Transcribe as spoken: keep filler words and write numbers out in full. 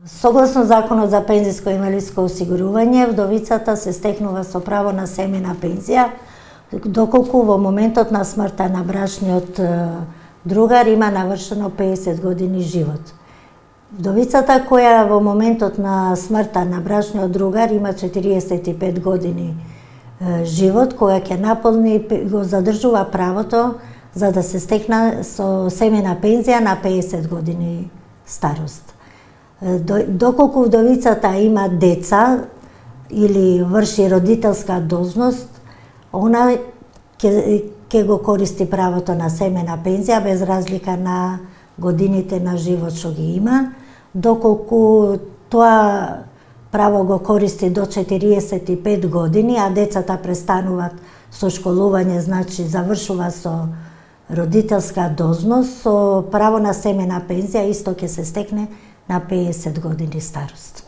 Согласно Законот за пензиско и инвалидско осигурување, вдовицата се стекнува со право на семејна пензија, доколку во моментот на смртта на брачниот другар има навршено педесет години живот. Вдовицата која во моментот на смртта на брачниот другар има четириесет и пет години живот, која ќе наполни, го задржува правото за да се стекна со семејна пензија на педесет години старост. Доколку вдовицата има деца или врши родителска должност, она ќе, ќе го користи правото на семејна пензија без разлика на годините на живот што ги има, доколку тоа право го користи до четириесет и пет години, а децата престануваат со школување, значи завршува со родителска должност, со право на семејна пензија исто ќе се стекне на педесет години старост.